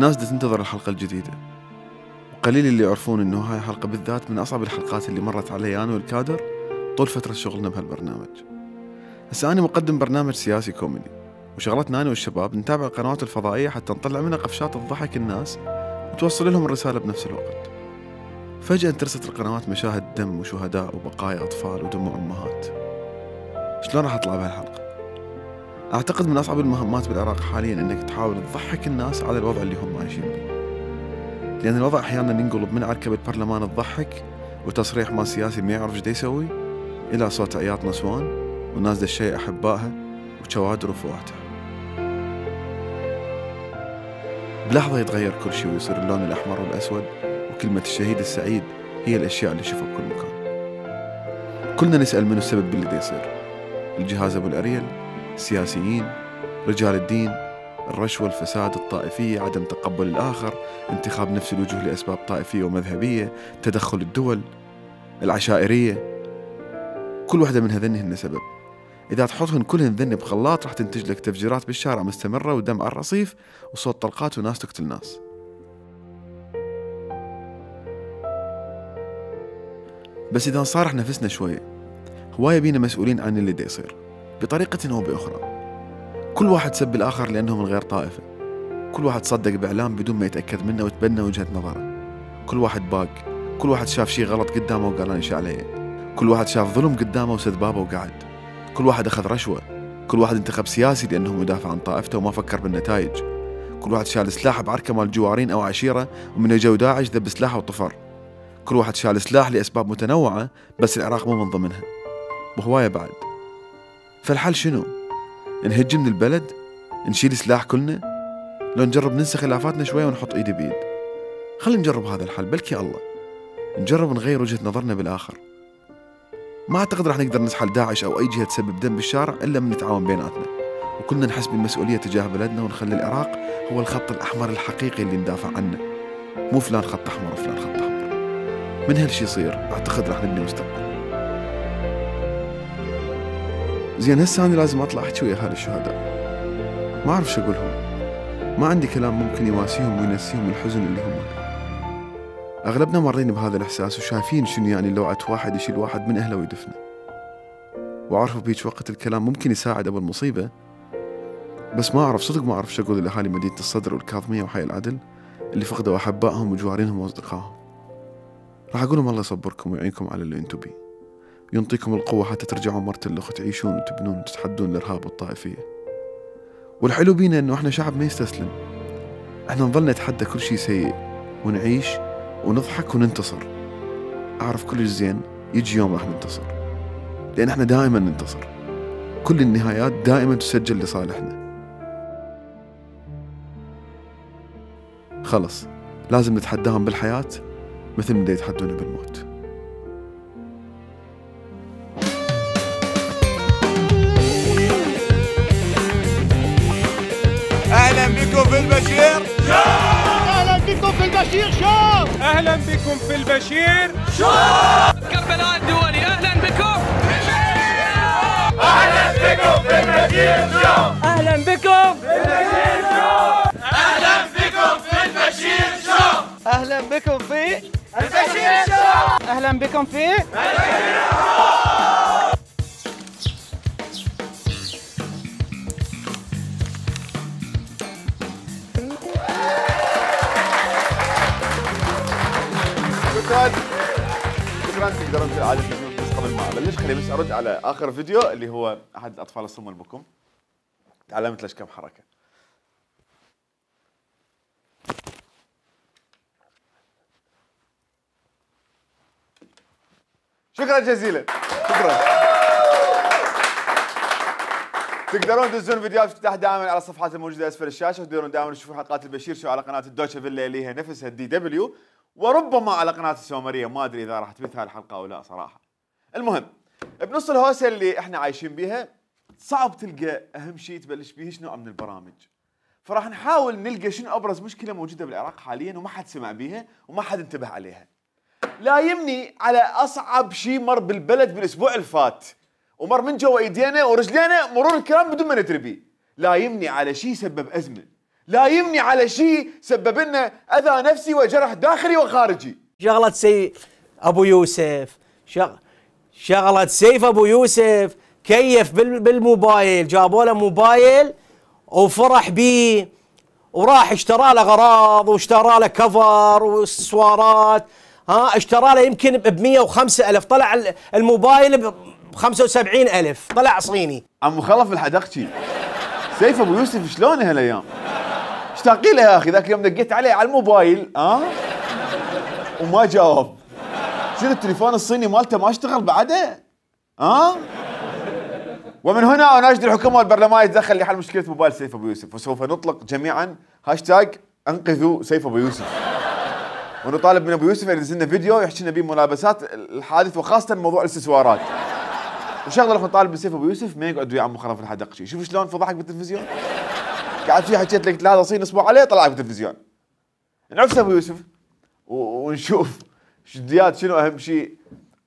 الناس دا تنتظر الحلقة الجديدة، وقليل اللي يعرفون إنه هاي الحلقة بالذات من أصعب الحلقات اللي مرت علي أنا والكادر طول فترة شغلنا بهالبرنامج. هسه أنا مقدم برنامج سياسي كوميدي، وشغلتنا أنا والشباب نتابع القنوات الفضائية حتى نطلع منها قفشات تضحك الناس وتوصل لهم الرسالة بنفس الوقت. فجأة انترست القنوات مشاهد دم وشهداء وبقايا أطفال ودموع أمهات. شلون راح أطلع بهالحلقة؟ أعتقد من أصعب المهمات بالعراق حالياً إنك تحاول تضحك الناس على الوضع اللي هم عايشين به، لأن الوضع أحياناً ينقلب من عركبة برلمان تضحك وتصريح مال سياسي ما يعرف ايش يسوي إلى صوت عياط نسوان وناس دشي أحبائها وشوادر وفواتح. بلحظة يتغير كل شيء ويصير اللون الأحمر والأسود، وكلمة الشهيد السعيد هي الأشياء اللي شوفها بكل مكان. كلنا نسأل منو السبب باللي دا يصير؟ الجهاز أبو الأريل، السياسيين، رجال الدين، الرشوة، الفساد، الطائفية، عدم تقبل الآخر، انتخاب نفس الوجوه لأسباب طائفية ومذهبية، تدخل الدول، العشائرية. كل واحدة من هذني هن سبب. إذا تحطهن كلهن ذني بخلاط راح تنتج لك تفجيرات بالشارع مستمرة ودم على الرصيف وصوت طلقات وناس تقتل ناس. بس إذا نصارح نفسنا شوية، هواية بينا مسؤولين عن اللي دا يصير بطريقة أو بأخرى. كل واحد سب الآخر لأنه من غير طائفة، كل واحد صدق بإعلام بدون ما يتأكد منه وتبنى وجهة نظره، كل واحد باق، كل واحد شاف شي غلط قدامه وقال أنا إيش عليه، كل واحد شاف ظلم قدامه وسد بابه وقعد، كل واحد أخذ رشوة، كل واحد انتخب سياسي لأنه مدافع عن طائفته وما فكر بالنتائج، كل واحد شال سلاح بعركة مال جوارين أو عشيرة ومن جو داعش ذب سلاحه وطفر، كل واحد شال سلاح لأسباب متنوعة بس العراق مو من ضمنها، وهواية بعد. فالحل شنو؟ نهج من البلد؟ نشيل سلاح كلنا؟ لو نجرب ننسى خلافاتنا شوية ونحط ايدي بيد. خلينا نجرب هذا الحل، بلكي الله نجرب نغير وجهة نظرنا بالآخر. ما أعتقد راح نقدر نسحل داعش أو أي جهة تسبب دم بالشارع إلا من نتعاون بيناتنا، وكلنا نحس بالمسؤولية تجاه بلدنا ونخلي العراق هو الخط الأحمر الحقيقي اللي ندافع عنه، مو فلان خط أحمر وفلان خط أحمر. من هالشي يصير أعتقد راح نبني مستقبل. زين هسه أنا لازم أطلع أحكي ويا أهالي الشهداء، ما أعرف شو أقولهم، ما عندي كلام ممكن يواسيهم وينسيهم الحزن اللي هم. أغلبنا مارين بهذا الإحساس وشايفين شنو يعني لوعة واحد يشيل واحد من أهله ويدفنه، وأعرف بهيج وقت الكلام ممكن يساعد أبو المصيبة، بس ما أعرف صدق ما أعرف شو أقول لأهالي مدينة الصدر والكاظمية وحي العدل اللي فقدوا أحبائهم وجوارينهم وأصدقائهم. راح أقول لهم الله يصبركم ويعينكم على اللي أنتم بيه، ينطيكم القوة حتى ترجعوا مرتلخ وتعيشون وتبنون وتتحدون الإرهاب والطائفية. والحلو بينا إنه إحنا شعب ما يستسلم، إحنا نظل نتحدى كل شيء سيء ونعيش ونضحك وننتصر. أعرف كل زين يجي يوم راح ننتصر، لأن إحنا دائما ننتصر، كل النهايات دائما تسجل لصالحنا. خلص لازم نتحداهم بالحياة مثل ما يتحدونا بالموت. أهلا بكم في البشير شو! أهلا بكم في البشير شو! أهلا بكم في البشير شو! كربلاء الدولي أهلا بكم في البشير شو! أهلا بكم في البشير شو! أهلا بكم في البشير شو! أهلا بكم في البشير شو! أهلا بكم في البشير شو! أهلا بكم في البشير شو! شكرا تقدرون كالعادة تسمعون بس قبل ما ابلش خليني بس ارد على اخر فيديو اللي هو احد الاطفال الصم البكم. تعلمت ليش كم حركة. شكرا جزيلا. شكرا. تقدرون تدزون فيديوهات افتتاح دائما على الصفحات الموجودة اسفل الشاشة، وتقدرون دائما تشوفون حلقات البشير شو على قناة الدوتشا فيلا اللي هي نفسها الدي دبليو، وربما على قناة السومرية، ما ادري اذا راح تبث هاي الحلقة او لا صراحة. المهم بنص الهوسة اللي احنا عايشين بيها صعب تلقى اهم شيء تبلش به نوع من البرامج، فراح نحاول نلقى شنو ابرز مشكلة موجودة بالعراق حاليا وما حد سمع بيها وما حد انتبه عليها. لا يمني على اصعب شيء مر بالبلد بالاسبوع الفات، ومر من جوا ايدينا ورجلينا مرور الكرام بدون ما ندري بيه. لا يمني على شيء سبب ازمه، لا يمني على شيء سبب لنا اذى نفسي وجرح داخلي وخارجي. شغلة سيف ابو يوسف، شغلة سيف ابو يوسف كيف بالموبايل، جابوا له موبايل وفرح بيه وراح اشترى له اغراض واشترى له كفر واكسسوارات، اشترى له يمكن ب 105,000، طلع الموبايل ب 75,000، طلع صيني. عم مخلف الحدقشي سيف ابو يوسف شلون هالايام؟ اشتاقي له يا اخي، ذاك اليوم دقيت عليه على الموبايل وما جاوب. شنو التليفون الصيني مالته ما اشتغل بعده؟ ومن هنا اناشد الحكومه والبرلمان يتدخل لحل مشكله موبايل سيف ابو يوسف، وسوف نطلق جميعا هاشتاج انقذوا سيف ابو يوسف، ونطالب من ابو يوسف ان ينزل لنا فيديو يحكي لنا به ملابسات الحادث وخاصه موضوع الاكسسوارات. وشغله راح نطالب من سيف ابو يوسف ما يقعد ويا عم مخرف الحدقشي. شوف شلون فضحك بالتلفزيون، قاعد فيه حكيت لك 3 صين اصبع عليه طلعك بالتلفزيون. نعفس ابو يوسف ونشوف جديات شنو اهم شيء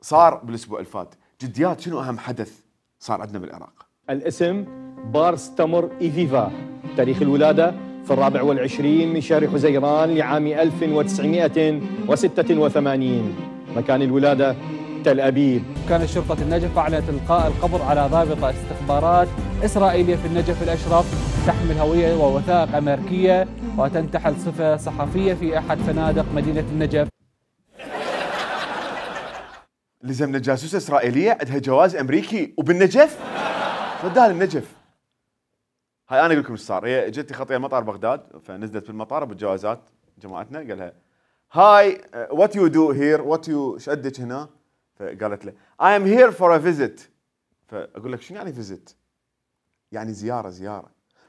صار بالاسبوع الفات، جديات شنو اهم حدث صار عندنا بالعراق. الاسم بارس تمر إيفيفا، تاريخ الولادة في 24 من شهر حزيران لعام 1986، مكان الولادة تل أبيب. كانت شرطة النجف أعلنت إلقاء القبض على ضابطة استخبارات إسرائيلية في النجف الأشرف تحمل هوية ووثائق أمريكية وتنتحل صفة صحفية في أحد فنادق مدينة النجف. لزمنا جاسوسة إسرائيلية عندها جواز أمريكي وبالنجف؟ وداها للنجف. هاي أنا أقول لكم إيش صار، هي جتي خطية مطار بغداد، فنزلت بالمطار بالجوازات جماعتنا، قال لها هاي وات يو دو هير، وات يو ايش عندك هنا؟ فقالت له I am here for a visit. فأقول لك شنو يعني visit؟ يعني زيارة.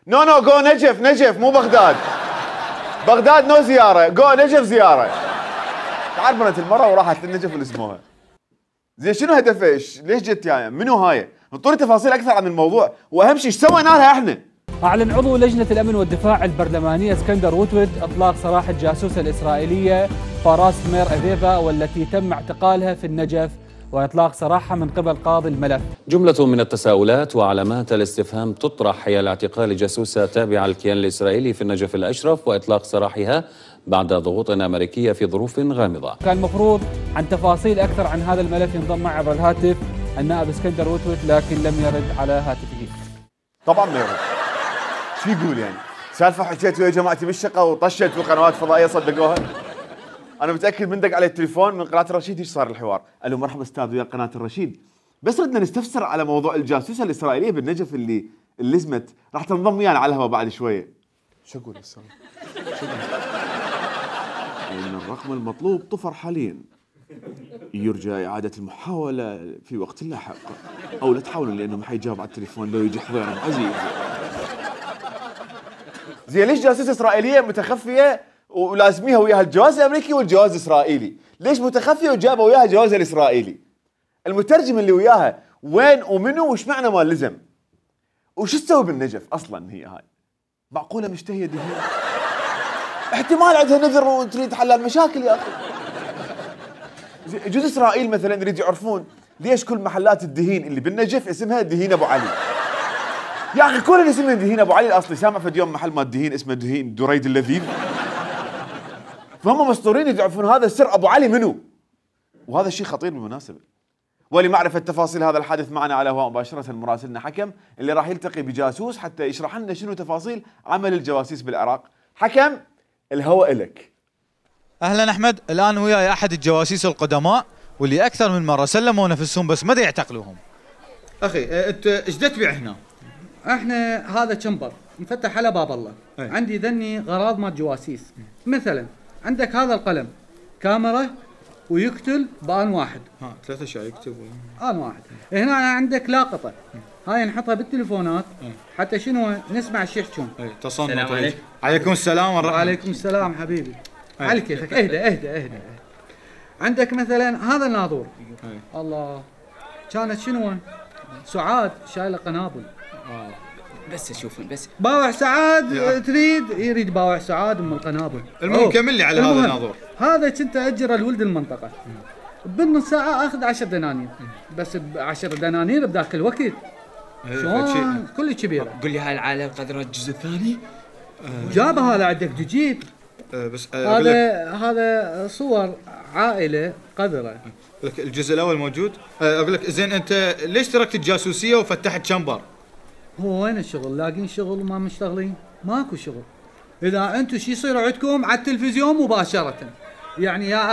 نو جو نجف مو بغداد. بغداد نو زيارة، جو نجف زيارة. تعربنت المرة وراحت للنجف اللي اسمها. زين شنو هدفه؟ ليش جت يعني؟ منو هاي؟ انطوني تفاصيل اكثر عن الموضوع، واهم شيء ايش سوينا لها احنا؟ أعلن عضو لجنة الأمن والدفاع البرلمانية اسكندر وتود إطلاق سراح الجاسوسة الإسرائيلية باراس تمر إيفيفا، والتي تم اعتقالها في النجف وإطلاق سراحها من قبل قاضي الملف. جملة من التساؤلات وعلامات الاستفهام تطرح حيال اعتقال جاسوسة تابعة للكيان الإسرائيلي في النجف الأشرف وإطلاق سراحها بعد ضغوط أمريكية في ظروف غامضة. كان المفروض عن تفاصيل أكثر عن هذا الملف ينضم معي عبر الهاتف النائب اسكندر وتود، لكن لم يرد على هاتفه. طبعا ما يرد. شو يقول يعني؟ سالفة حكيت ويا جماعتي بالشقة وطشت في قنوات فضائية صدقوها؟ أنا متأكد من دق علي التليفون من قناة الرشيد ايش صار الحوار؟ قال له مرحبا أستاذ ويا قناة الرشيد، بس ردنا نستفسر على موضوع الجاسوسة الإسرائيلية بالنجف اللي لزمت، راح تنضم ويانا على الهواء بعد شوية. شو أقول هسه؟ إن الرقم المطلوب طفر حاليا، يرجى إعادة المحاولة في وقت لاحق، أو لا تحاولون لأنه ما حيجاوب على التليفون لو يجي حضيرهم عزيز. زين ليش جاسوسة إسرائيلية متخفية ولازميها وياها الجواز الأمريكي والجواز الإسرائيلي؟ ليش متخفية وجابوا وياها الجواز الإسرائيلي؟ المترجم اللي وياها وين ومنو وش معنى ما لزم؟ وش تسوي بالنجف أصلاً هي هاي؟ معقولة مشتهية دهين؟ احتمال عندها نذر وتريد حل المشاكل يا أخي. يجوز إسرائيل مثلاً يريد يعرفون ليش كل محلات الدهين اللي بالنجف اسمها دهين أبو علي. يا أخي كل اللي اسمه دهين أبو علي الأصلي، سامع في اليوم محل ما الدهين اسمه دهين دريد اللذيذ. فهم مسطورين يعرفون هذا السر أبو علي منو، وهذا الشيء خطير بالمناسبة. ولمعرفة تفاصيل هذا الحادث معنا على الهواء مباشرة مراسلنا حكم اللي راح يلتقي بجاسوس حتى يشرح لنا شنو تفاصيل عمل الجواسيس بالعراق. حكم الهواء لك. اهلا احمد، الان وياي احد الجواسيس القدماء واللي اكثر من مره سلموا نفسهم بس ما يعتقلوهم. اخي انت ايش تبيع هنا؟ احنا هذا تشمبر مفتح على باب الله. عندي ذني غراض مال جواسيس، مثلا عندك هذا القلم كاميرا ويقتل بآن واحد. 3 اشياء يكتب آن واحد. هنا عندك لاقطة، هاي نحطها بالتليفونات حتى شنو نسمع ايش يحكون. السلام عليكم. عليكم السلام ورحمة. وعليكم السلام حبيبي. على كيفك. اهدى. عندك مثلا هذا الناظور. الله كانت شنو سعاد شايله قنابل. بس اشوف بس باوع سعاد يريد باوع سعاد ام القنابل. المهم كمل لي على هذا الناظور. هذا كنت اجره لولد المنطقه، بالنص ساعه اخذ 10 دنانير، بس ب10 دنانير بذاك الوقت شلون كل كبيره. قول لي هاي العائله قدرت الجزء الثاني؟ جاب هذا عندك تجيب. بس هذا صور عائله قذره. لك الجزء الاول موجود. اقول لك زين انت ليش تركت الجاسوسيه وفتحت شمبر؟ هو وين الشغل؟ لاقين شغل وما مشتغلين؟ ماكو شغل. اذا انتم شي يصير عندكم على التلفزيون مباشره. يعني يا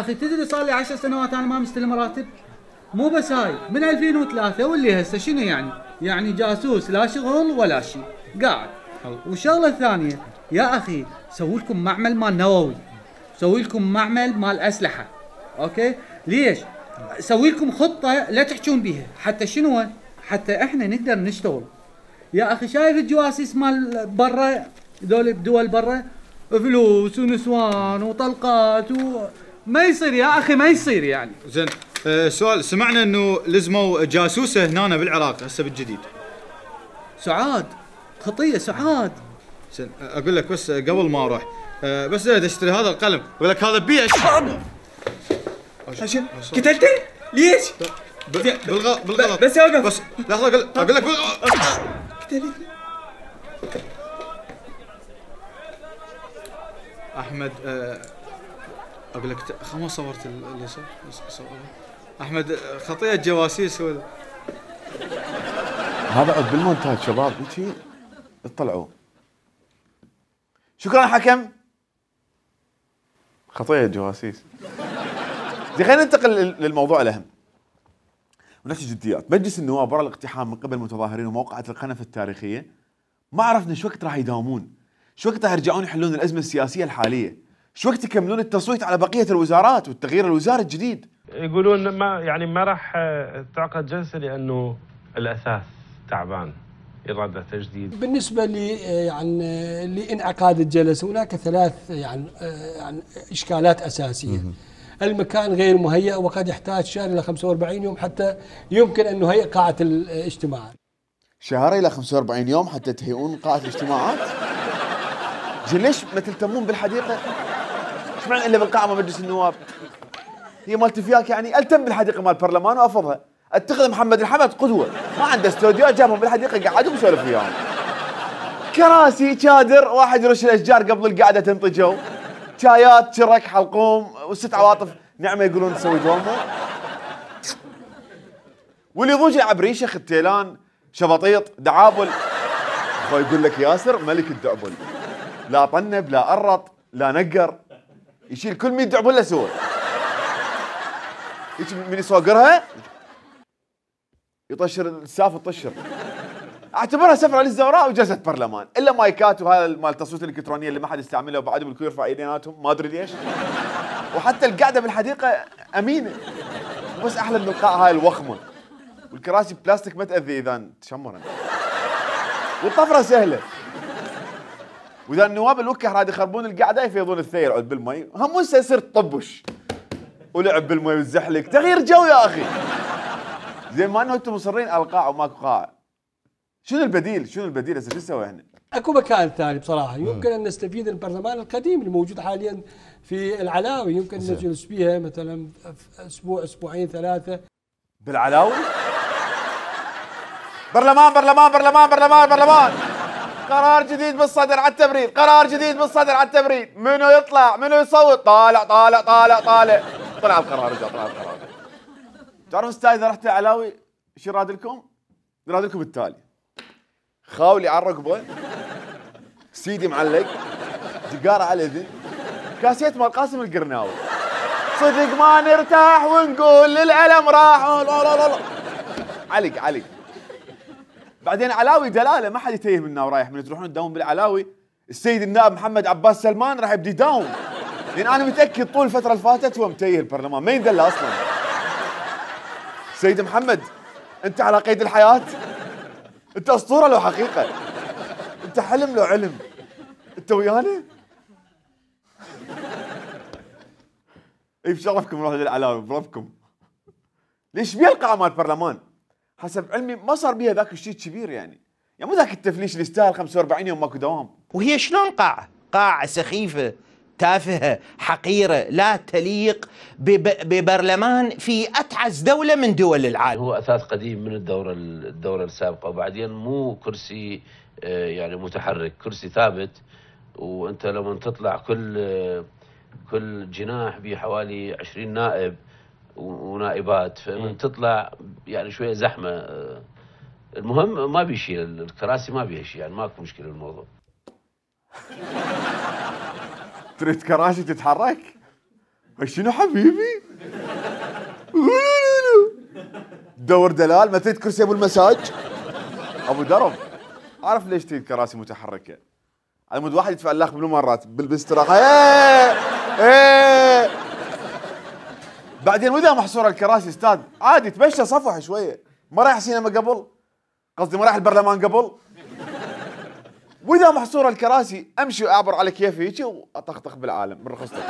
اخي تدري صار لي 10 سنوات انا ما مستلم راتب. مو بس هاي من 2003 واللي هسه شنو يعني جاسوس لا شغل ولا شيء قاعد. والشغله الثانيه يا اخي سووا لكم معمل مال نووي، سوي لكم معمل مال اسلحه. اوكي ليش؟ سوي لكم خطه لا تحجون بيها حتى شنو؟ حتى احنا نقدر نشتغل. يا اخي شايف الجواسيس مال برا ذول بدول برا فلوس ونسوان وطلقات ما يصير يا اخي ما يصير يعني. زين سؤال، سمعنا انه لزموا جاسوسه هنا بالعراق هسه بالجديد. سعاد خطيه سعاد. زين اقول لك بس قبل ما اروح بس اشتري هذا القلم اقول لك هذا بيش. قتلته؟ ليش؟ بالغلط بس اوقف. بس لحظه اقول لك قتلته احمد. اقول لك ما صورت اللي صار. احمد خطيه جواسيس هذا عد بالمونتاج شباب هيك اطلعوا. شكرا حكم. خطيه جواسيس. زين خلينا ننتقل للموضوع الاهم ونحكي جديات. مجلس النواب ورا الاقتحام من قبل المتظاهرين وموقعة القنفة التاريخية ما عرفنا شو وقت راح يداومون، شو وقت راح يرجعون يحلون الأزمة السياسية الحالية، شو وقت يكملون التصويت على بقية الوزارات والتغيير الوزاري الجديد. يقولون ما راح تعقد جلسة لأنه الأساس تعبان، إرادة تجديد. بالنسبة لانعقاد الجلسة هناك ثلاث يعني إشكالات أساسية. المكان غير مهيأ وقد يحتاج شهر إلى 45 يوم حتى يمكن أن نهيئ قاعة الاجتماعات. شهر إلى 45 يوم حتى تهيئون قاعة الاجتماعات؟ ليش ما تلتمون بالحديقة؟ ايش معنى إلا بالقاعة مال مجلس النواب؟ هي مالت فياك يعني التم بالحديقة مال البرلمان وافضها. اتخذ محمد الحمد قدوة، ما عنده استوديو جابهم بالحديقة قعدوا وسولف وياهم. كراسي شادر واحد يرش الأشجار قبل القعدة تنطجوا. شايات شرك حلقوم وست عواطف نعمه يقولون تسوي دوامه. واللي يضوج عبريشه ختيلان شبطيط دعابل. اخوي يقول لك ياسر ملك الدعبل، لا طنب لا قرط لا نقر، يشيل كل 100 دعبله سوى. هيك من يصوقرها يطشر الساف الطشر. اعتبرها سفره للزوراء وجلسه برلمان، الا مايكات وهذا مال التصويت الالكترونيه اللي ما حد يستعملها وبعدهم الكل يرفع ايديناتهم ما ادري ليش. وحتى القعده بالحديقه امينه، بس احلى من القاعه هاي الوخمه، والكراسي بلاستيك ما تاذي اذا تشمرن، والطفره سهله. واذا النواب الوكه راد يخربون القعده يفيضون الثير عود بالمي، هم هسه يصير طبش ولعب بالمي والزحلق، تغيير جو يا اخي. زين ما انه انتم مصرين على القاعه وماكو قاعه. شنو البديل هسه شو نسوي احنا؟ اكو مكان ثاني بصراحه يمكن ان نستفيد البرلمان القديم الموجود حاليا في العلاوي، يمكن نجلس فيها مثلا اسبوع اسبوعين ثلاثه. بالعلاوي؟ برلمان برلمان برلمان برلمان برلمان. قرار جديد بالصدر على التبريد، قرار جديد بالصدر على التبريد، منو يطلع منو يصوت؟ طالع طالع طالع طالع. طلع القرار رجع طلع القرار. تعرف استاذ اذا رحت العلاوي شو راد لكم؟ راد لكم التالي: خاولي على الركبه، سيدي معلق، جقاره على الاذن، كاسيت مال قاسم القرناوي، صدق ما نرتاح ونقول للألم راح. علق. بعدين علاوي دلاله ما حد يتيه منا ورايح، من تروحون تداوم بالعلاوي السيد النائب محمد عباس سلمان راح يبدي يداوم، لان انا متاكد طول الفتره اللي فاتت هو متيه البرلمان ما يندلى اصلا. سيد محمد انت على قيد الحياه، انت اسطوره لو حقيقه، انت حلم لو علم، انت ويانا. اي بشرفكم نروح للعلاوي بربكم. ليش بيها القاعه مال البرلمان؟ حسب علمي ما صار بيها ذاك الشيء كبير يعني مو ذاك التفليش اللي يستاهل 45 يوم ماكو دوام. وهي شلون قاعه سخيفه تافهه حقيره لا تليق ببرلمان في اتعس دوله من دول العالم. هو اثاث قديم من الدوره السابقه، وبعدين مو كرسي يعني متحرك، كرسي ثابت. وانت لما تطلع كل جناح بحوالي 20 نائب ونائبات، فمن تطلع يعني شويه زحمه. المهم ما بيشيل الكراسي، ما بيها شيء، يعني ماكو مشكله بالموضوع. تريد كراسي تتحرك؟ شنو حبيبي؟ دور دلال، ما تريد كرسي ابو المساج؟ ابو درب. عارف ليش تريد كراسي متحركه؟ على مود واحد يدفع الاخ بالمرات بالاستراحه. ايه بعدين واذا محصوره الكراسي استاذ عادي تمشى صفح شويه. ما رايح سينما قبل، قصدي ما رايح البرلمان قبل. واذا محصوره الكراسي امشي واعبر على كيفي هيك واطخطخ بالعالم من رخصتك.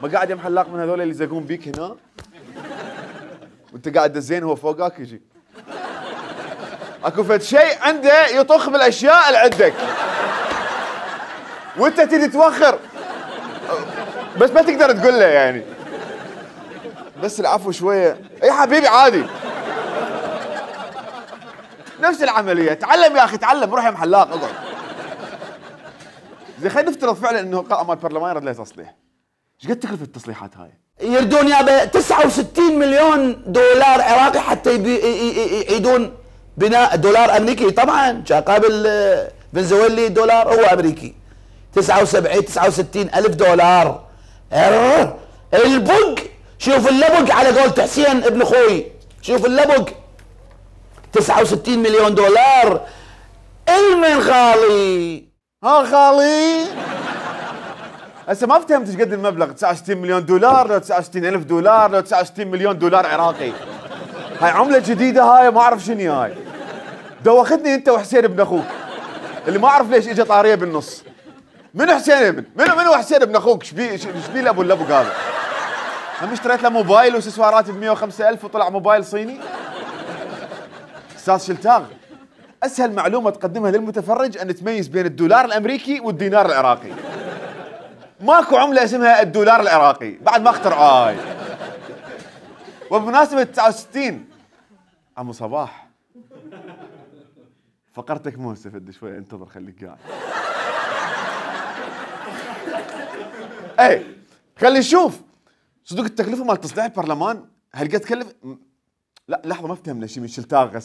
ما قاعد يا محلاق من هذول اللي يزقون بيك هنا وانت قاعد الزين هو فوقك يجي. اكو فد شيء عنده يطخ بالاشياء اللي عندك وانت تيجي توخر، بس ما تقدر تقول له يعني. بس العفو شويه. اي حبيبي عادي، نفس العمليه. تعلم يا اخي تعلم، روح يا محلاق اقعد. زين خلينا نفترض فعلا انه قائمه مال البرلمان يرد له تصليح. ايش قد تكلف التصليحات هاي؟ يردون يابا 69 مليون دولار عراقي حتى يعيدون بناء. دولار امريكي طبعا، قابل فنزويلي دولار هو امريكي. 69 الف دولار. البق، شوف اللبق على قولة حسين ابن اخوي، شوف اللبق 69 مليون دولار. المن خالي؟ ها خالي هسه ما فهمت ايش قد المبلغ. 69 مليون دولار لو 69 الف دولار لو 69 مليون دولار عراقي. هاي عمله جديده هاي، ما اعرف شنو هاي. دوختني انت وحسين ابن اخوك اللي ما اعرف ليش اجى طاريه بالنص. منو حسين ابن؟ منو حسين ابن اخوك؟ ايش بيه ابو اللبق هذا؟ هم اشتريت له موبايل واكسسوارات ب 105,000 وطلع موبايل صيني؟ استاذ شلتاغ، اسهل معلومه تقدمها للمتفرج ان تميز بين الدولار الامريكي والدينار العراقي. ماكو عمله اسمها الدولار العراقي، بعد ما اخترعوها هاي. وبمناسبه 69 عمو صباح، فقرتك مو مستفد شوي، انتظر خليك قاعد. اي خلي نشوف صدق التكلفه مال تصليح البرلمان هل قد تكلف؟ لا لحظه ما فهمنا شيء من شلتاغ.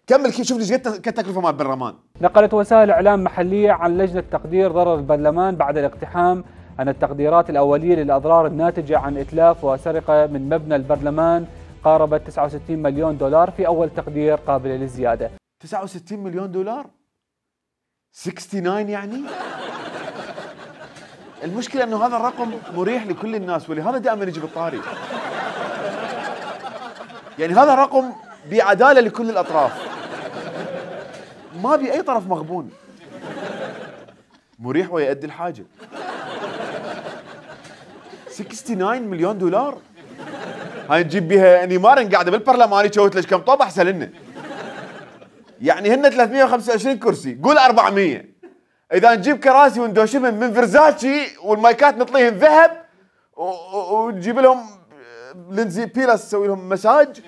كمل كيف، شوف ليش قد التكلفه مال البرلمان. نقلت وسائل اعلام محليه عن لجنه تقدير ضرر البرلمان بعد الاقتحام عن التقديرات الاوليه للاضرار الناتجه عن اتلاف وسرقه من مبنى البرلمان قاربت 69 مليون دولار في اول تقدير قابل للزياده. 69 مليون دولار؟ 69 يعني؟ المشكله انه هذا الرقم مريح لكل الناس، ولهذا دائما يجي بالطاري. يعني هذا رقم بعداله لكل الاطراف، ما بي اي طرف مغبون، مريح ويؤدي الحاجه. 69 مليون دولار هاي نجيب بها نيمار قاعده بالبرلمان يشوت لك كم طوب احسن لنا. يعني هن 325 كرسي، قول 400. اذا نجيب كراسي وندوشهم من فرزاتشي والمايكات نطليهم ذهب ونجيب لهم لينزي بيلاس تسوي لهم مساج،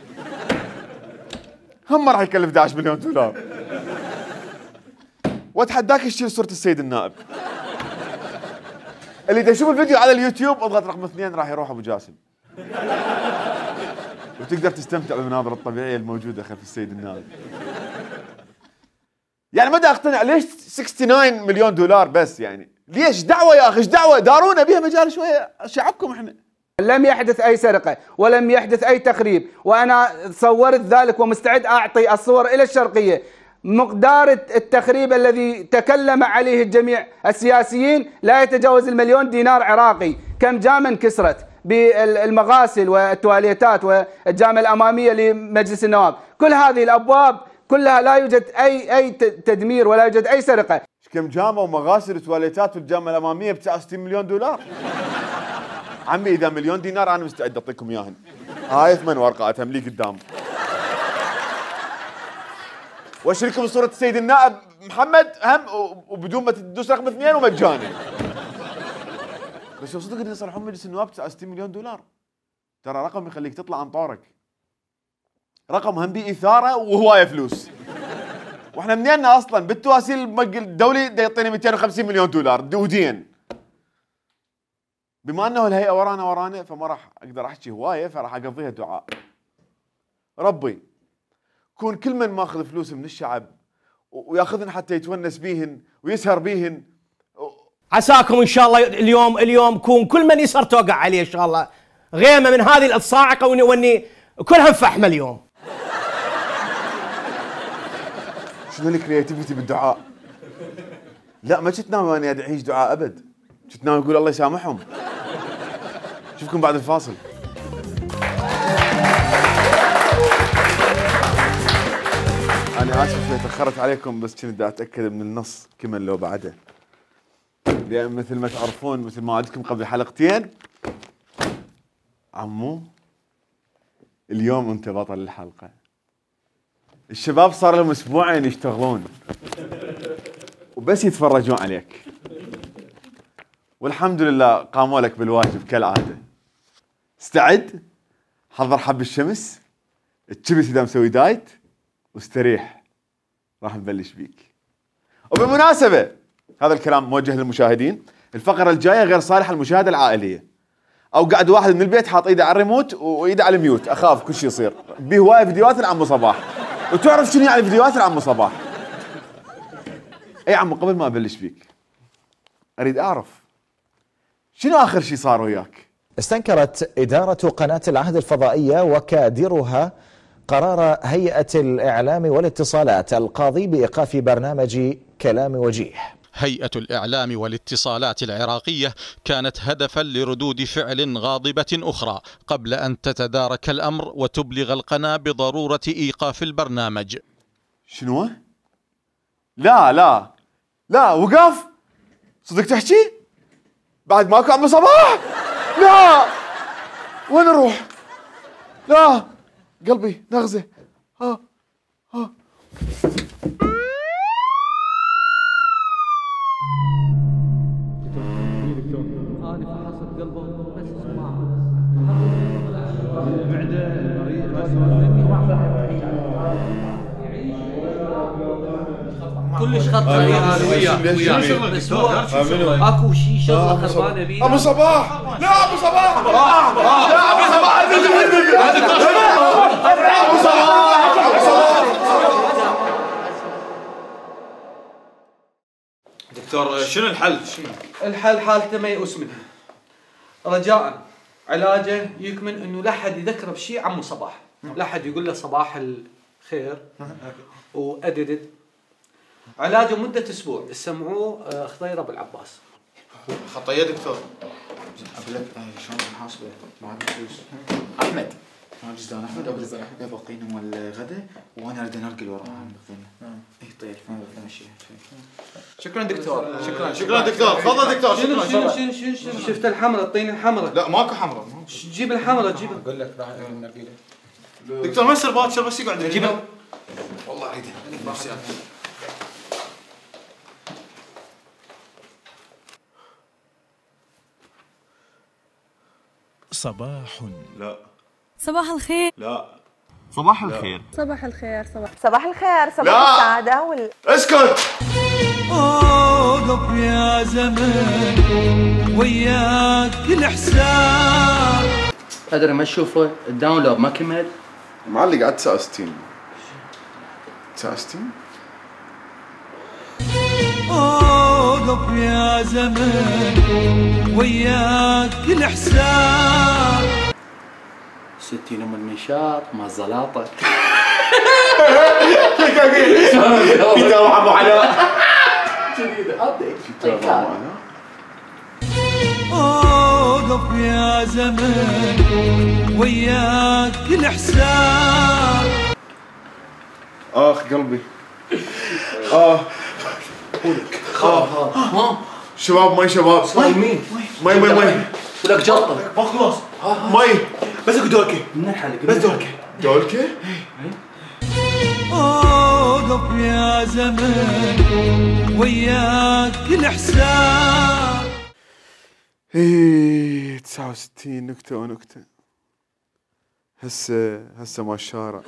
هم ما راح يكلف 11 مليون دولار. واتحداك تشيل صورة السيد النائب. اللي دا يشوف الفيديو على اليوتيوب اضغط رقم 2 راح يروح ابو جاسم. وتقدر تستمتع بالمناظر الطبيعية الموجودة خلف السيد النائب. يعني ما دا اقتنع ليش 69 مليون دولار بس، يعني ليش؟ دعوة يا اخي، ايش دعوة؟ دارونا بيها مجال شوية، شعبكم احنا. لم يحدث أي سرقة ولم يحدث أي تخريب، وأنا صورت ذلك ومستعد أعطي الصور إلى الشرقية. مقدار التخريب الذي تكلم عليه الجميع السياسيين لا يتجاوز المليون دينار عراقي. كم جامع انكسرت بالمغاسل والتواليتات والجامعة الأمامية لمجلس النواب، كل هذه الأبواب كلها لا يوجد أي تدمير ولا يوجد أي سرقة. كم جامعة ومغاسل وتواليتات والجامعة الأمامية ب 69 مليون دولار؟ عمي اذا مليون دينار انا مستعد اعطيكم اياهن. هاي 8 ورقات هم لي قدام. واشرككم صورة السيد النائب محمد هم وبدون ما تدوس رقم 2 ومجاني. بس لو صدق يصلحون مجلس النواب 69 مليون دولار ترى رقم يخليك تطلع عن طورك. رقم هم بيه اثاره وهوايه فلوس. واحنا منينا اصلا بالتواسيل الدولي دا يعطيني 250 مليون دولار ودين. بما انه الهيئه ورانا فما راح اقدر احكي هوايه، فراح اقضيها دعاء. ربي كون كل من ماخذ فلوس من الشعب وياخذن حتى يتونس بيهن ويسهر بيهن. عساكم ان شاء الله اليوم كون كل من يسهر توقع عليه ان شاء الله غيمه من هذه الصاعقه واني كلها فحمه اليوم. شنو الكرياتيفيتي بالدعاء؟ لا ما كنت ناوي اني ادعيش دعاء ابد، كنت ناوي اقول الله يسامحهم. اشوفكم بعد الفاصل. انا اسف شوي تاخرت عليكم، بس كنت دا اتاكد من النص كمل لو بعده، لان مثل ما تعرفون مثل ما وعدتكم قبل حلقتين عمو اليوم انت بطل الحلقه. الشباب صار لهم اسبوعين يشتغلون وبس يتفرجون عليك، والحمد لله قاموا لك بالواجب كالعاده. استعد، حضر حب الشمس، اتشبس اذا مسوي دايت، واستريح، راح نبلش بيك. وبالمناسبه هذا الكلام موجه للمشاهدين، الفقره الجايه غير صالحه للمشاهده العائليه، او قاعد واحد من البيت حاط ايده على الريموت وايده على الميوت، اخاف كل شيء يصير. بهوايه فيديوهات لعمو صباح، وتعرف شنو يعني فيديوهات لعمو صباح. اي عمو قبل ما ابلش بيك اريد اعرف شنو اخر شيء صار وياك؟ استنكرت إدارة قناة العهد الفضائية وكادرها قرار هيئة الإعلام والاتصالات القاضي بإيقاف برنامج كلام وجيه. هيئة الإعلام والاتصالات العراقية كانت هدفا لردود فعل غاضبة أخرى قبل أن تتدارك الأمر وتبلغ القناة بضرورة إيقاف البرنامج. شنو؟ لا وقف؟ صدق تحكي؟ بعد ماكو عمو صباح؟ لا وين نروح؟ لا قلبي نغزه. ها كلش خطره وياه بس هو اكو شيء شغله خربانه بيه. ابو صباح، لا ابو صباح، لا ابو صباح، ابو صباح. دكتور شنو الحل؟ الحل حالته ميؤوس منها. رجاء علاجه يكمن انه لا حد يذكره بشيء عمو صباح، لا حد يقول له صباح الخير واددد. علاجه مدة أسبوع، سمعوه خضير أبو العباس. خطيه دكتور. اقول لك شلون نحاسبه؟ ما عندنا فلوس. احمد ما جزدان احمد ابو باقينا مال الغداء وانا اريد انرقل وراها باقينا. اي طيب ماشي. شكرا دكتور. شكرا دكتور. تفضل دكتور. شنو شفت الحمراء؟ الطين الحمراء. لا ماكو حمراء. جيب الحمراء جيبها. اقول لك راح نرقله. دكتور ما يصير باكر بس يقعد جيبها. والله اريدها. صباح. لا. صباح الخير. لا. صباح الخير. صباح الخير. صباح الخير. صباح السعادة اسكت. اوقف يا زمن وياك الاحسان. ادري ما تشوفه الداونلود ما كمل. معلق على 69. 69 اوقف يا زمن وياك الاحسان. 60 ام المنشار مع الزلاطه. كتاب ابو علاء. كتاب ابو علاء. اوقف يا زمن وياك الاحسان. اخ قلبي. شباب مي شباب. صايمين. مي ولك جلطه. ما خلاص. مي بس اكو دولكه. من الحلقه بس دولكه. اوقف يا زمن وياك الاحسان. 69 نكته ونكته. هسه مال الشارع.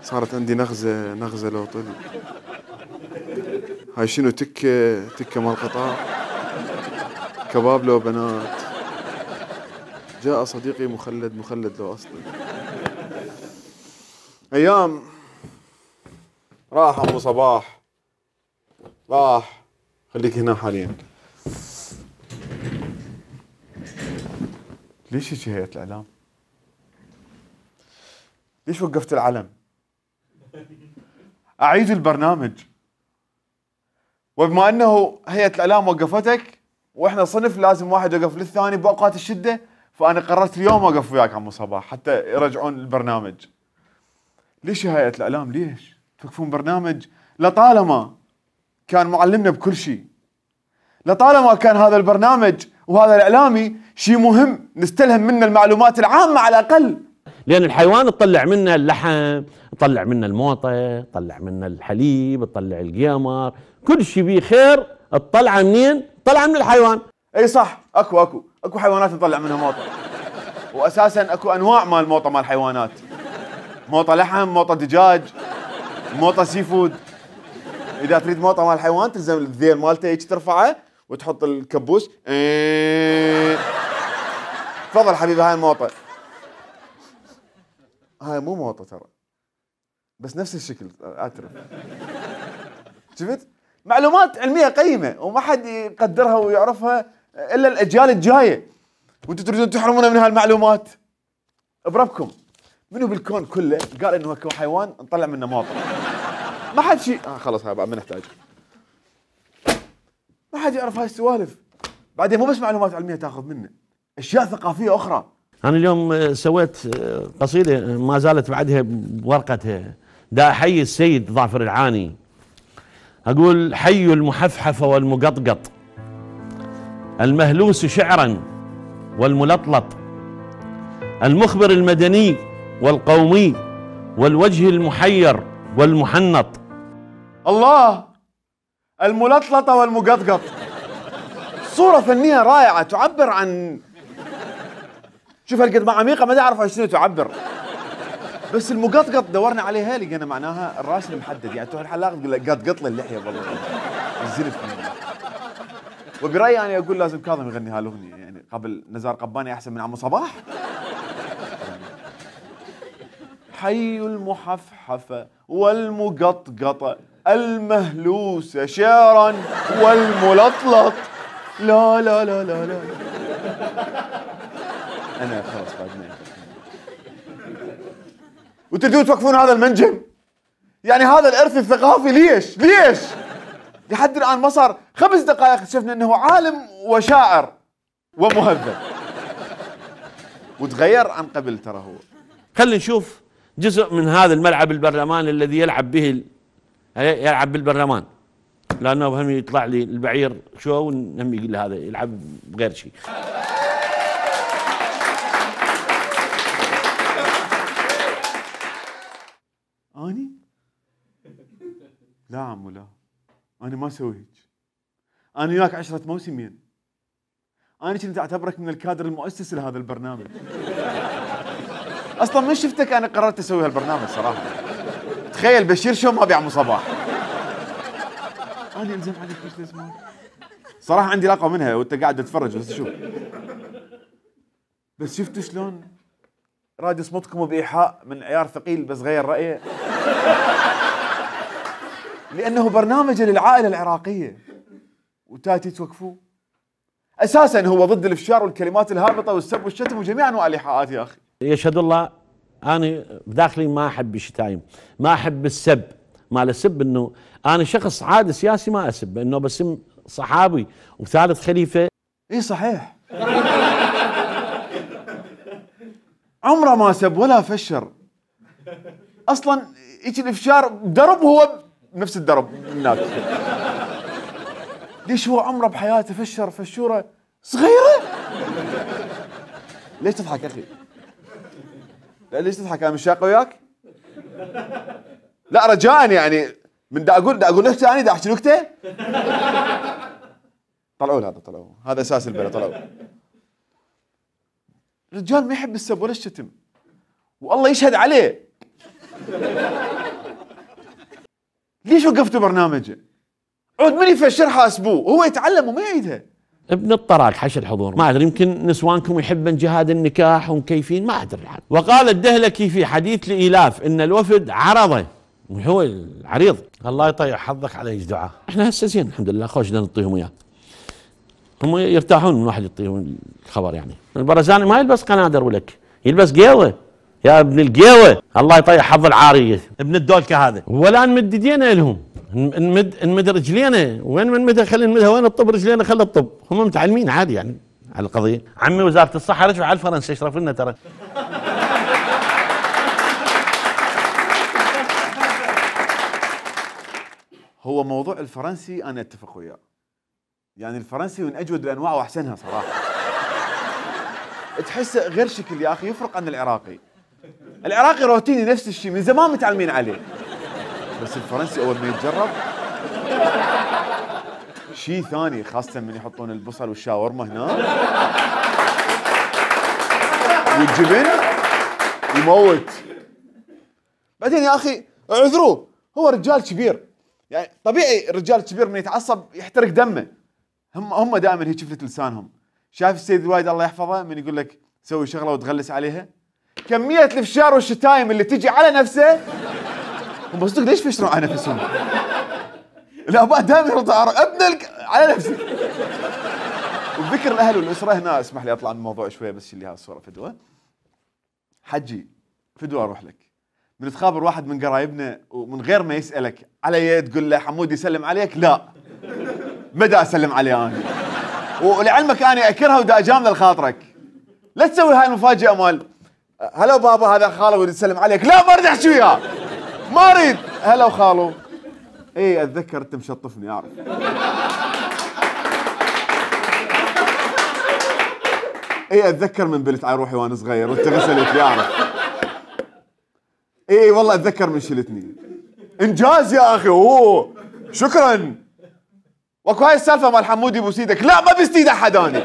صارت عندي نغزة لو طل. هاي شنو؟ تكة مال قطار، كباب لو بنات. جاء صديقي مخلد لو أصلي. أيام راح أبو صباح، راح. خليك هنا حاليا. ليش هيك هيئة الإعلام؟ ليش وقفت العلم؟ أعيد البرنامج. وبما أنه هيئة الإعلام وقفتك وإحنا صنف لازم واحد يوقف للثاني بأوقات الشدة، فأنا قررت اليوم أوقف وياك عمو صباح حتى يرجعون البرنامج. ليش يا هيئة الإعلام؟ ليش توقفون برنامج لطالما كان معلمنا بكل شيء، لطالما كان هذا البرنامج وهذا الإعلامي شيء مهم نستلهم منه المعلومات العامة على الأقل. لأن الحيوان تطلع منه اللحم، تطلع منه الموطة، تطلع منه الحليب، تطلع القيمر، كل شيء بيه خير. تطلع منين؟ طلع من الحيوان. اي صح، اكو حيوانات نطلع منها موطة، واساسا اكو انواع مال موطة مال حيوانات، موطة لحم، موطة دجاج، موطة سي فود. اذا تريد موطة مال حيوان تلزم الذيل مالته هيك ترفعه وتحط الكبوس. تفضل حبيبي هاي الموطة. هاي مو موطة ترى، بس نفس الشكل اعترف. شفت؟ معلومات علمية قيمة وما حد يقدرها ويعرفها الا الاجيال الجاية، وانتم تريدون تحرمونا من هالمعلومات. بربكم منو بالكون كله قال انه اكو حيوان نطلع منه موطة؟ ما حد شيء. خلص هاي بعد ما نحتاج. ما حد يعرف هاي السوالف. بعدين مو بس معلومات علمية تاخذ منه، اشياء ثقافية اخرى. أنا اليوم سويت قصيدة ما زالت بعدها بورقتها، دا أحيي السيد ظافر العاني. أقول: حي المحفحف والمقطقط، المهلوس شعرا والملطلط، المخبر المدني والقومي، والوجه المحير والمحنط. الله، الملطلطة والمقطقط، صورة فنية رائعة تعبر عن، شوف هالقد ما عميقة ما اعرف شنو تعبر. بس المقطقط دورنا عليها لقينا معناها الراس المحدد، يعني تروح الحلاق تقول له قطقط لي اللحية والله الزلف. وبرأيي أنا أقول لازم كاظم يغني هالأغنية، يعني قبل نزار قباني أحسن من عمو صباح. حي المحفحفة والمقطقطة، المهلوس شعرا والملطلط. لا لا لا لا لا. أنا خلاص بعد ما وتريدون توقفون هذا المنجم؟ يعني هذا الإرث الثقافي ليش؟ لحد الآن ما صار 5 دقائق شفنا أنه عالم وشاعر ومهذب، وتغير عن قبل ترى هو. خلينا نشوف جزء من هذا الملعب البرلمان الذي يلعب بالبرلمان، لأنه هم يطلع لي البعير شو ونهم يقول هذا يلعب بغير شيء. أني؟ لا عمو لا، أنا ما أسوي هيك. أنا وياك 10 موسمين. أنا كنت أعتبرك من الكادر المؤسس لهذا البرنامج. أصلاً من شفتك أنا قررت أسوي هالبرنامج صراحة. تخيل بشير شو ما بيعمو صباح. أنا ألزم عليك إيش لازم. صراحة عندي لاقة منها وأنت قاعد تتفرج بس شوف. بس شفت شلون راد يصمتكم بإيحاء من عيار ثقيل بس غير رأيه. لأنه برنامج للعائلة العراقية وتاتي توقفوه. أساساً هو ضد الإفشار والكلمات الهابطة والسب والشتم وجميع أنواع الإيحاءات يا أخي. يشهد الله أنا بداخلي ما أحب الشتايم، ما أحب السب، ما السب إنه أنا شخص عادي سياسي ما أسب، إنه بسم صحابي وثالث خليفة. إيه صحيح. عمره ما سب ولا فشر. أصلاً إيش الإفشار درب هو نفس الدرب هناك. ليش هو عمره بحياته فشر فشورة صغيرة؟ ليش تضحك أخي؟ لا ليش تضحك؟ أنا مش شاق وياك؟ لا رجاءً يعني من دا أقول نكتة، أنا دا أحكي نكتة؟ طلعوا هذا أساس البلا. طلعوا. الرجال ما يحب السب ولا الشتم، والله يشهد عليه. ليش وقفتوا برنامجه؟ عود من يفشرها اسبوع هو يتعلم وما يعيدها. ابن الطراق حش الحضور، ما ادري يمكن نسوانكم يحبن جهاد النكاح ومكيفين، ما ادري. وقال الدهلكي في حديث لإيلاف ان الوفد عرضه، هو العريض. الله يطيع حظك على دعاء. احنا هسه زين الحمد لله، خوش نعطيهم اياه. هم يرتاحون من واحد يعطيهم الخبر يعني. البرزاني ما يلبس قنادر ولك، يلبس قيوه يا ابن القيوه. الله يطيع حظ العاريه ابن الدولكه هذا. ولا نمد ايدينا لهم، نمد رجلينا. وين من مدها خلينا نمدها، وين الطب رجلينا خلي الطب. هم متعلمين عادي يعني على القضيه. عمي وزاره الصحه رجعوا على الفرنسا يشرف لنا ترى. هو موضوع الفرنسي انا اتفق وياه. يعني الفرنسي من اجود الانواع واحسنها صراحه. تحسه غير شكل يا اخي، يفرق عن العراقي. العراقي روتيني نفس الشيء من زمان متعلمين عليه. بس الفرنسي اول ما يتجرب شيء ثاني، خاصة من يحطون البصل والشاورما هنا والجبن يموت. بعدين يا اخي اعذروه، هو رجال كبير يعني طبيعي. الرجال الكبير من يتعصب يحترق دمه. هم دائما هيك شفلة لسانهم. شايف السيد الوايد الله يحفظه من يقول لك سوي شغله وتغلس عليها؟ كمية الفشار والشتايم اللي تجي على نفسه. هم بصدق ليش فشروا على نفسهم؟ الاباء دائما يردوا على نفسه. وبذكر الاهل والاسره هنا، اسمح لي اطلع من الموضوع شويه بس اللي هذه الصوره فدوه. حجي فدوه اروح لك. من تخابر واحد من قرايبنا ومن غير ما يسالك على يد تقول له حمود يسلم عليك، لا ما دا اسلم عليه انا. ولعلمك انا اكرها ودا اجامله لخاطرك. لا تسوي هاي المفاجاه مال هلا بابا هذا خاله ودي يسلم عليك، لا ما اريد احكي وياه، ما اريد. هلا وخالو. اي اتذكر انت مشطفني اعرف. اي اتذكر من بلت على روحي وانا صغير وانت غسلت لي اعرف. اي والله اتذكر من شلتني. انجاز يا اخي. اوه شكرا. واكو هاي السالفه مال حمودي بوس ايدك، لا ما بست ايد احد اني.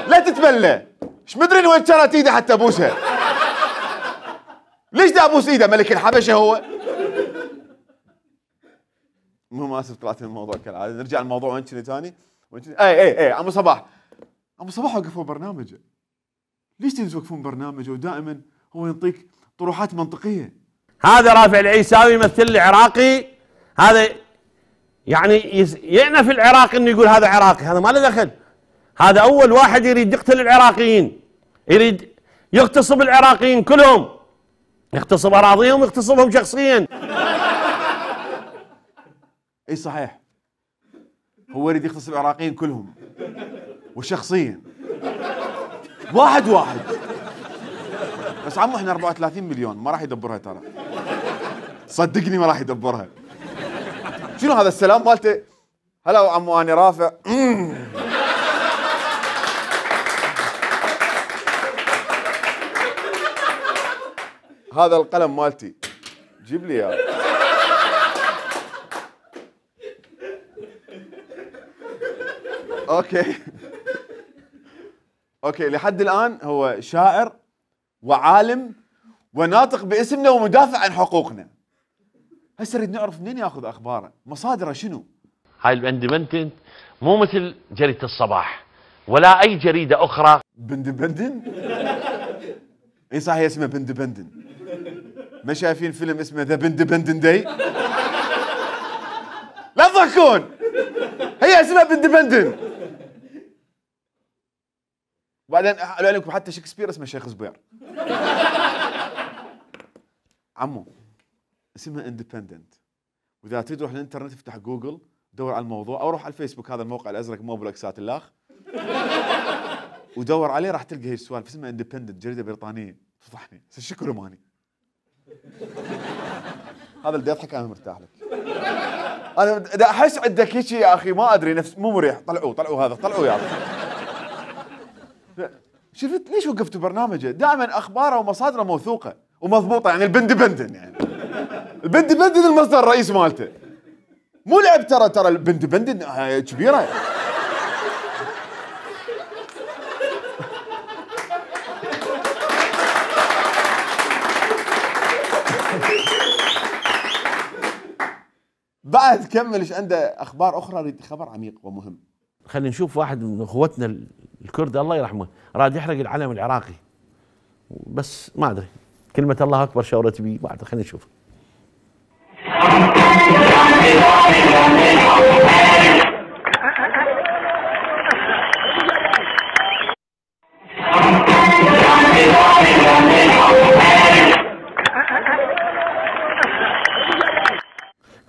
لا تتبلى. ايش مدري وين كانت ايده حتى ابوسها. ليش دا ابوس ايده؟ ملك الحبشه هو. المهم اسف طلعت من الموضوع كالعاده. نرجع للموضوع. وين كنت ثاني؟ اي عمو صباح. عمو صباح وقفوا برنامجه. ليش توقفون برنامجه ودائما هو يعطيك طروحات منطقيه؟ هذا رافع العيساوي يمثل لي عراقي، هذا يعني يعنف العراقي انه يقول هذا عراقي، هذا ما له دخل. هذا اول واحد يريد يقتل العراقيين، يريد يغتصب العراقيين كلهم، يغتصب اراضيهم ويغتصبهم شخصيا. اي صحيح، هو يريد يغتصب العراقيين كلهم وشخصيا واحد واحد. بس عمو احنا 34 مليون ما راح يدبرها ترى، صدقني ما راح يدبرها. شنو هذا السلام مالته؟ هلا عمو اني رافع. هذا القلم مالتي جيب لي اياه. اوكي لحد الان هو شاعر وعالم وناطق باسمنا ومدافع عن حقوقنا. هسه نريد نعرف منين ياخذ اخباره، مصادره شنو؟ هاي الاندبندنت مو مثل جريدة الصباح ولا اي جريدة اخرى. بندبندن؟ اي صحيح اسمه بندبندن. ما شايفين فيلم اسمه ذا بندبندن داي؟ لا تضحكون، هي اسمها بندبندن. وبعدين قالوا لكم حتى شكسبير اسمه شيخ زبير. عمو اسمها اندبندنت، واذا تريد تروح الانترنت افتح جوجل دور على الموضوع او روح على الفيسبوك، هذا الموقع الازرق مو بلوكسات اللاخ، ودور عليه راح تلقى هي السوالف. اسمها اندبندنت، جريده بريطانيه. تفضحني شكو روماني. هذا اللي يضحك انا مرتاح لك. انا دا احس عندك هيك يا اخي ما ادري نفس مو مريح. طلعوا هذا طلعوا يا اخي. شفت ليش وقفتوا برنامجه؟ دائما اخباره ومصادره موثوقه ومضبوطه. يعني البندبندن، يعني البندبندن المصدر الرئيس مالته مو لعب. ترى البندبندن كبيره. فهد كمل ايش عنده اخبار اخرى، اريد خبر عميق ومهم. خلينا نشوف واحد من اخوتنا الكرد الله يرحمه راد يحرق العلم العراقي، بس ما ادري كلمة الله اكبر شورت بي بعد. خلينا نشوف.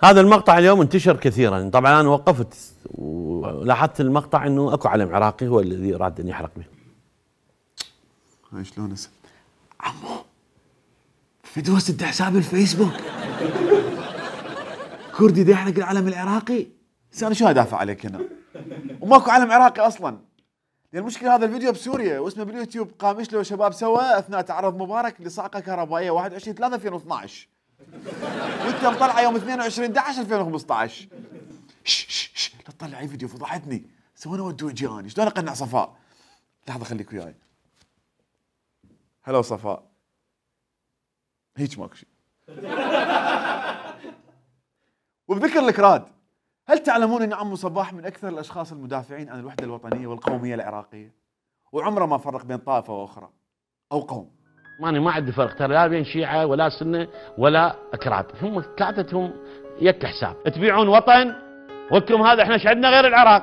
هذا المقطع اليوم انتشر كثيرا، طبعا انا وقفت ولاحظت المقطع انه اكو علم عراقي هو الذي اراد ان يحرق به. هاي شلون عمو فدوة سد حساب الفيسبوك كردي دا يحرق العلم العراقي. انا شو ادافع عليك هنا؟ وماكو علم عراقي اصلا. لان المشكله هذا الفيديو بسوريا واسمه باليوتيوب قامش له شباب سوا اثناء تعرض مبارك لصاعقه كهربائيه 21/3/2012 وانت مطلعه يوم 22/11/2015. لا تطلع اي فيديو فضحتني. سوينا ودو جاني شلون اقنع صفاء؟ لحظه خليك وياي. هلا صفاء هيك ماكو شيء. وبذكر الكراد، هل تعلمون ان عمو صباح من اكثر الاشخاص المدافعين عن الوحده الوطنيه والقوميه العراقيه؟ وعمره ما فرق بين طائفه واخرى او قوم. ماني ما عندي فرق ترى لا بين شيعه ولا سنه ولا اكراد، هم ثلاثتهم يك حساب. تبيعون وطن ولكم هذا احنا ايش عندنا غير العراق؟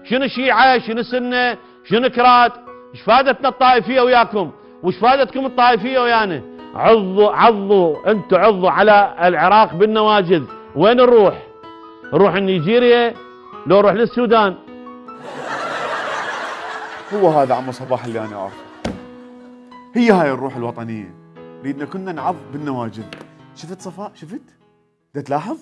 شنو شيعه؟ شنو سنه؟ شنو كراد؟ ايش فادتنا الطائفيه وياكم؟ وش فادتكم الطائفيه ويانا؟ عضوا انتم عضوا على العراق بالنواجذ. وين نروح؟ نروح نيجيريا لو نروح للسودان. هو هذا عمو صباح اللي انا اعرفه. هي هاي الروح الوطنيه. ريدنا كنا نعض بالنواجذ. شفت صفاء؟ شفت؟ دا تلاحظ؟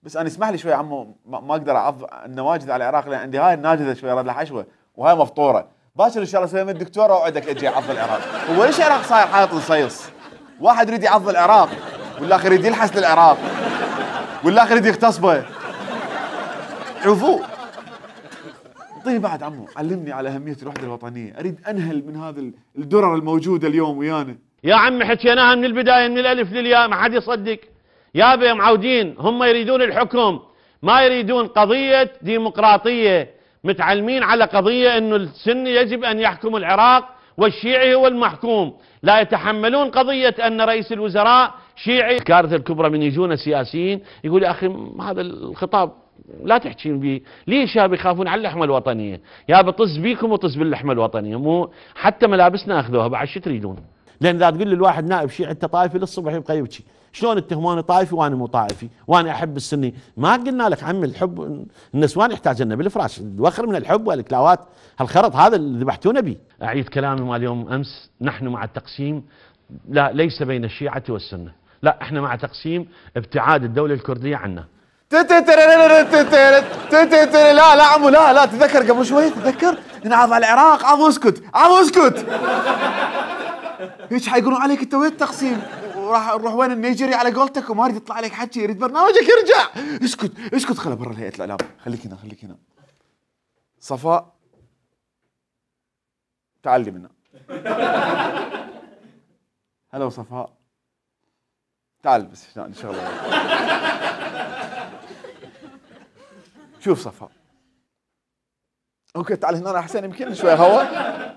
بس انا اسمح لي شوي عمو ما اقدر اعض النواجذ على العراق لان عندي هاي الناجذه شوي رد لها حشوه وهاي مفطوره. باكر ان شاء الله اسوي من الدكتوره واوعدك اجي اعض العراق. هو ليش العراق صاير حائط نصيص؟ واحد يريد يعض العراق والاخر يريد يلحس للعراق والاخر يريد يغتصبه. شوفوا اعطيني بعد عمو، علمني على اهميه الوحده الوطنيه، اريد انهل من هذا الدرر الموجوده اليوم ويانا. يا عمي حكيناها من البدايه من الالف للياء ما حد يصدق. يابا معودين هم يريدون الحكم ما يريدون قضيه ديمقراطيه. متعلمين على قضيه انه السني يجب ان يحكم العراق والشيعي هو المحكوم. لا يتحملون قضيه ان رئيس الوزراء شيعي. الكارثه الكبرى من يجون سياسيين يقول يا اخي هذا الخطاب لا تحكين به، ليش يا بيخافون على اللحمه الوطنيه؟ يا بطز بيكم وطز باللحمه الوطنيه، مو حتى ملابسنا اخذوها بعد شو تريدون؟ لان اذا تقول للواحد نائب شيعي انت طائفي للصبح يبقى يبكي، شلون اتهموني طائفي وانا مو طائفي وانا احب السني؟ ما قلنا لك عمي الحب النسوان يحتاج لنا بالفراش، الوخر من الحب والكلاوات هالخرط هذا اللي ذبحتونا به. اعيد كلامي مال يوم امس، نحن مع التقسيم لا ليس بين الشيعه والسنه، لا احنا مع تقسيم ابتعاد الدوله الكرديه عنا. لا عمو لا تذكر قبل شوي تذكر نعض على العراق. عضو اسكت هيك حيقولون عليك انت وين التقسيم؟ وراح نروح وين النيجيري على قولتك وما يريد يطلع عليك حكي، يريد برنامجك يرجع. اسكت خله برا هيئه الاعلام. خليك هنا صفاء تعالي منا. هلا صفاء تعال بس ان شاء الله. شوف صفاء اوكي تعال هنا احسن يمكن شوي هواء.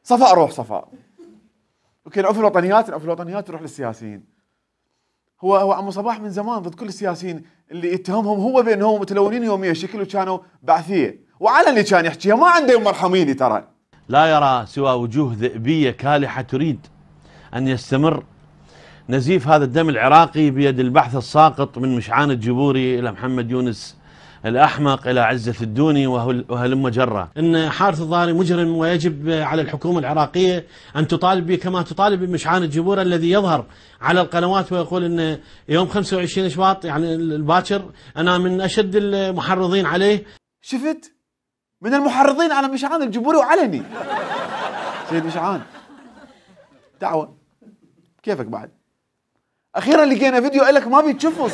صفاء روح صفاء اوكي نعوف الوطنيات نروح للسياسيين. هو عمو صباح من زمان ضد كل السياسيين اللي يتهمهم هو بانهم متلونين يوميا شكل وكانوا بعثيه وعلني كان يحكيها ما عنده يوم مرحميني ترى. لا يرى سوى وجوه ذئبيه كالحه تريد ان يستمر نزيف هذا الدم العراقي بيد البحث الساقط من مشعان الجبوري الى محمد يونس الأحمق إلى عزة الدوني وهلم جرة. إن حارث الظاهري مجرم ويجب على الحكومة العراقية أن تطالب به كما تطالب بمشعان الجبور الذي يظهر على القنوات ويقول إن يوم 25 شباط يعني الباكر أنا من أشد المحرضين عليه. شفت؟ من المحرضين على مشعان الجبوري وعلني. سيد مشعان دعوة كيفك بعد؟ أخيرا لقينا فيديو لك ما بيتشفص.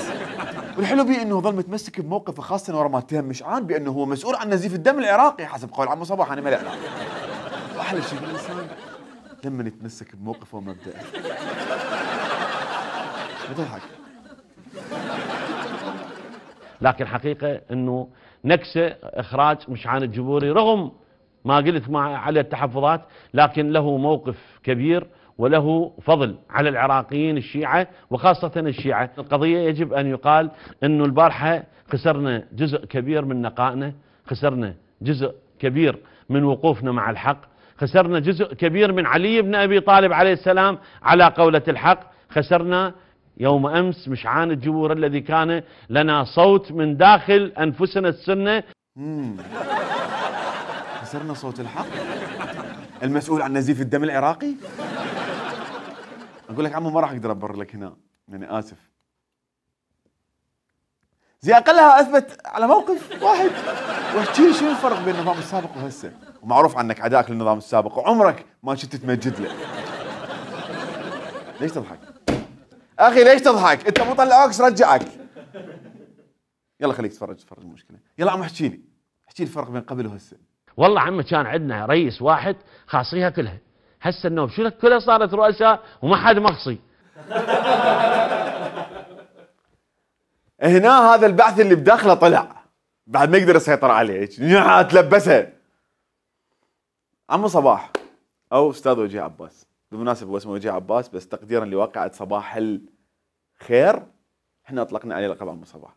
والحلو بيه انه ظل متمسك بموقفه خاصه ورا ما اتهم مشعان بانه هو مسؤول عن نزيف الدم العراقي حسب قول عمو صباح. انا ما له علاقه. واحلى شيء بالانسان لما يتمسك بموقفه ومبدأه. بتضحك لكن حقيقة أنه نكسة إخراج مشعان الجبوري رغم ما قلت على التحفظات، لكن له موقف كبير وله فضل على العراقيين الشيعة وخاصة الشيعة. القضية يجب أن يقال أنه البارحة خسرنا جزء كبير من نقائنا، خسرنا جزء كبير من وقوفنا مع الحق، خسرنا جزء كبير من علي بن أبي طالب عليه السلام على قولة الحق، خسرنا يوم أمس مشعان الجبور الذي كان لنا صوت من داخل أنفسنا السنة. خسرنا صوت الحق، المسؤول عن نزيف الدم العراقي. اقول لك عمو ما راح اقدر ابرر لك هنا، يعني اسف. زي اقلها اثبت على موقف واحد، واحكي لي شنو الفرق بين النظام السابق وهسه، ومعروف عنك عداك للنظام السابق وعمرك ما كنت تمجد له. ليش تضحك؟ اخي ليش تضحك؟ انت مو طلعوك رجعك. يلا خليك تفرج المشكله. يلا عم احكي لي الفرق بين قبل وهسه. والله عمي كان عندنا رئيس واحد خاصيها كلها، هسه النوب شو كلها صارت رؤساء وما حد مخصي. هنا هذا البعث اللي بداخله طلع بعد ما يقدر يسيطر عليه، تلبسها. عمو صباح او استاذ وجيه عباس، بالمناسبه هو اسمه وجيه عباس بس تقديرا لواقعة صباح الخير احنا اطلقنا عليه لقب عمو صباح.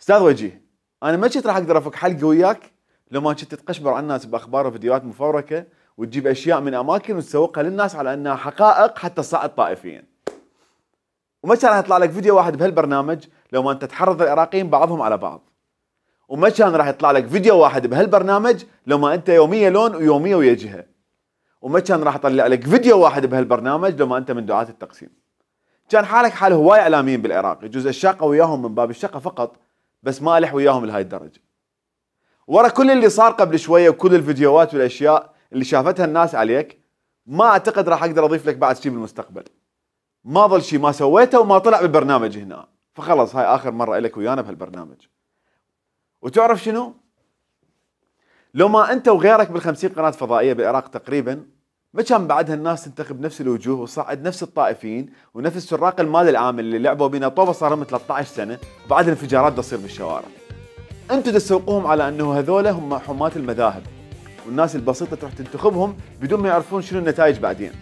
استاذ وجيه، انا ما كنت راح اقدر افك حلقه وياك لو ما كنت تقشبر على الناس باخبار وفيديوهات مفبركه وتجيب اشياء من اماكن وتسوقها للناس على انها حقائق حتى تصعد طائفيا. وما كان راح يطلع لك فيديو واحد بهالبرنامج لو ما انت تحرض العراقيين بعضهم على بعض. وما كان راح يطلع لك فيديو واحد بهالبرنامج لو ما انت يوميه لون ويوميه ويا جهه. وما كان راح يطلع لك فيديو واحد بهالبرنامج لو ما انت من دعاة التقسيم. كان حالك حال هواي اعلاميين بالعراق، يجوز الشاقه وياهم من باب الشقه فقط، بس ما الح وياهم لهاي الدرجه. ورا كل اللي صار قبل شويه وكل الفيديوهات والاشياء اللي شافتها الناس عليك، ما اعتقد راح اقدر اضيف لك بعد شيء بالمستقبل. ما ظل شيء ما سويته وما طلع بالبرنامج هنا، فخلص هاي اخر مره لك ويانا بهالبرنامج. وتعرف شنو؟ لو ما انت وغيرك بال50 قناه فضائيه بالعراق تقريبا، ما كان بعدها الناس تنتخب نفس الوجوه وصعد نفس الطائفيين ونفس سراق المال العام اللي لعبوا بينا طوبه صار لهم 13 سنه وبعد الانفجارات تصير بالشوارع. انتم تسوقوهم على انه هذول هم حماة المذاهب والناس البسيطه تروح تنتخبهم بدون ما يعرفون شنو النتائج بعدين.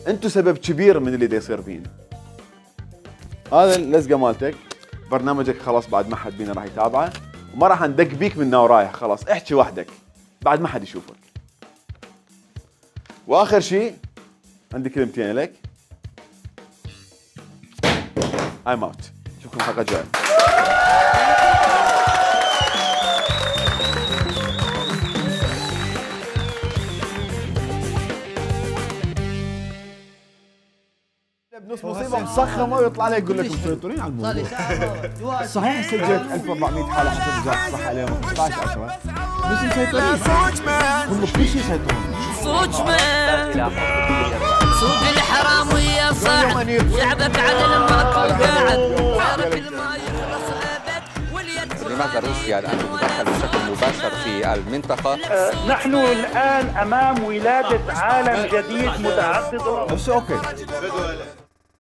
انتم سبب كبير من اللي دا يصير بينا. هذا اللزقه مالتك، برنامجك خلاص بعد ما حد بينا راح يتابعه وما راح ندق بيك من ورايح، خلاص احكي وحدك بعد ما حد يشوفك. واخر شيء عندي كلمتين لك. I'm out. نشوفكم الحلقه الجايه. بنص مصيبه مصخمه ويطلع لك يقول لك مسيطرين على الموضوع. صحيح سجلت 1400 حاله حسب وزاره الصحه اليوم 15/10، بس مسيطرين هم بكل شيء يسيطرون. صوت الحرام ويا صاحب يعبك على المرأة وقاعد. لماذا روسيا الآن تتدخل بشكل مباشر في المنطقة؟ نحن الآن أمام ولادة عالم جديد متعدد. بس اوكي